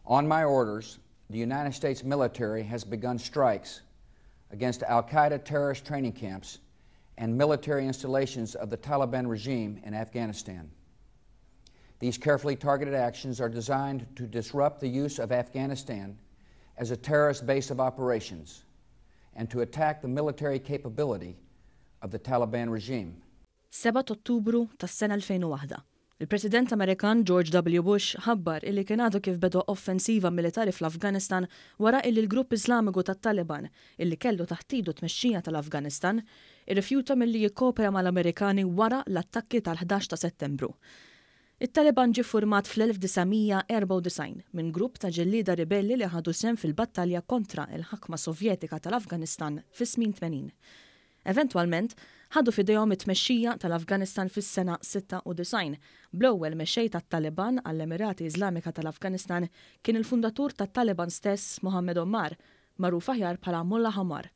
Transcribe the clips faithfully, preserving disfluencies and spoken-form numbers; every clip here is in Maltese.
On my orders, the United States military has begun strikes against Al-Qaeda terrorist training camps and military installations of the Taliban regime in Afghanistan. These carefully targeted actions are designed to disrupt the use of Afghanistan as a terrorist base of operations and to attack the military capability of the Taliban regime. sebgħa Ottubru tas-sena elfejn u waħda. Il-President Amerikan George W. Bush ħabbar illi kien għadu kif beda offensiva militari fl-Afganistan wara illi l-grupp Islamiku tat-Taliban, illi kellu taħt idu tmexxija tal-Afganistan, irrifjuta milli jikkopera mal-Amerikani wara l-attakki tal-ħdax ta' Settembru. It-Taliban ġie format fl-elf disa' mija erbgħa u disgħin minn grupp ta' ġellieda ribelli li ħadu sehem fil-battalja kontra il-ħakma Sovjetika tal-Afganistan fis-snin tmenin. Eventwalment, ħadu f'idejhom it-tmexxija tal-Afganistan fis-sena sitta u disgħin. Bl-ewwel mexxej tat-Taliban għall-Emirati Iżlamika tal-Afganistan kien il-fundatur tat-Taliban stess, Mohammed Omar, magħruf aħjar bħala Mullah Omar.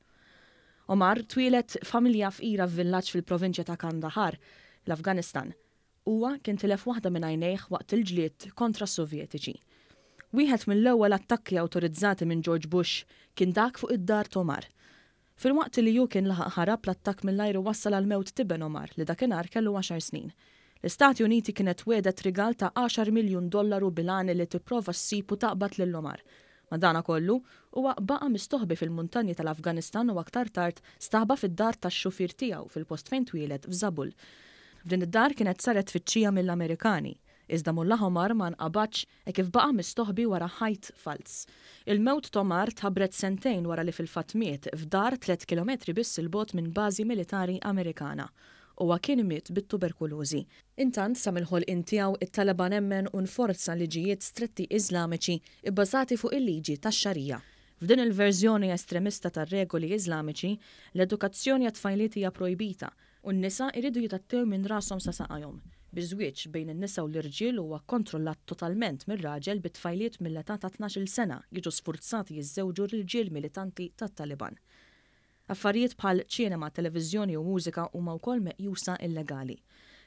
Omar twieled familja fqira f'villaġġ fil-provinċja ta' Kandahar, l-Afganistan. Huwa kien tilef waħda minn għajnejh waqt il-ġlied kontra s-Sovjetiċi. Wieħed mill-ewwel attakki awtorizzati minn George Bush kien dak fuq id-dar t'Omar. Filwaqt li hu kien laħaq ħarab, l-attakk mill-ajru wassal għal mewt t'iben Omar, li dakinhar kellu għaxar snin. L-Istati Uniti kienet wegħdet rigal ta' għaxar miljun dollaru bil-għan li tipprova ssib u taqbad lil Omar. Madana kollu, huwa baqa' mistoħbi fil-muntanji tal-Afganistan u aktar tard staħba fid-dar tax-xufier tiegħu fil-post fejn twieled f'Zabul. F'din id-dar kienet saret tfittxija mill-Amerikani, iżda Mullah Omar ma nqabadx e kif baqa' mistoħbi wara ħajt falz. Il-mewt t'Omar tħabbret sentejn wara li fil-fatt miet f'dar tliet kilometri biss 'il bogħod minn bażi militari Amerikana. Huwa kien miet bit-tuberkulożi. Intant, sa mill-ħolqien tiegħu, it-Taliban emmen u nforza liġijiet stretti Iżlamiċi ibbażati fuq il-liġi tax-Xarija. F'din il-verżjoni estremista tar-regoli Iżlamiċi, l-edukazzjoni għat-tfajliet hija projbita u n-nisa iridu jitgħattew minn rashom sa saqajhom. Biż-żwieġ bejn in-nisa u l-irġiel huwa kontrollat totalment mir-raġel, bit-tfajliet mill-età ta' tnax-il sena jiġu sfurzati jiżżewġu l-irġiel militanti tat-Taliban. Affarijiet bħal ċinema, televiżjoni u mużika huma wkoll meqjusa illegali.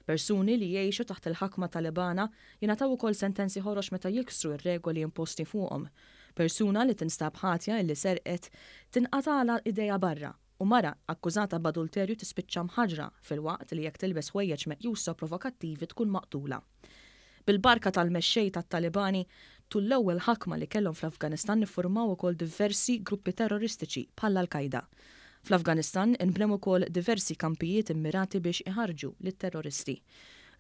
Persuni li jgħixu taħt il-ħakma Talibana jingħataw ukoll sentenzi ħorox meta jiksru r-regoli imposti fuqhom. Persuna li tinstab ħatja illi serqet tinqatala idejha barra u mara akkużata b'adulterju tispiċċa mħaġra, filwaqt li jekk tilbes ħwejjeġ meqjusa provokattivi tkun maqtula. Bil-barka tal-mexxej tat-Talibani, tul l-ewwel ħakma li kellhom fl-Afganistan iffurmaw ukoll diversi gruppi terroristiċi bħal Al-Qaida. Fl-Afganistan inbnew ukoll diversi kampijiet immirati biex iħarġu lit-terroristi.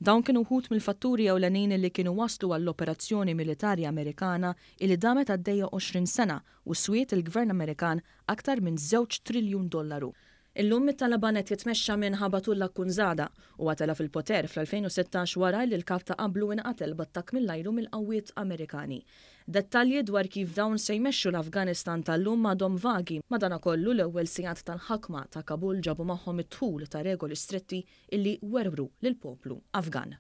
Dawn kienu wħud mill-fatturi ewlenin li kienu waslu għall-operazzjoni militari Amerikana illi damet għaddejja għoxrin sena u swiet il-Gvern Amerikan aktar minn żewġ triljun dollaru. Illum it-Taliban qed jitmexxa minn Hibatullah Akhundzada u tela' fil-poter fl-elfejn u sittax wara li l-kap ta' qablu inqatel b'attakk mill-ajru mill-qawwiet Amerikani. Dettalji dwar kif dawn se jmexxu l-Afganistan tal-lum għadhom vagi. Madanakollu, l-ewwel sigħat tal-ħakma ta' Kabul ġabu magħhom it-dħul ta' regoli stretti illi werwru lill-poplu Afgan.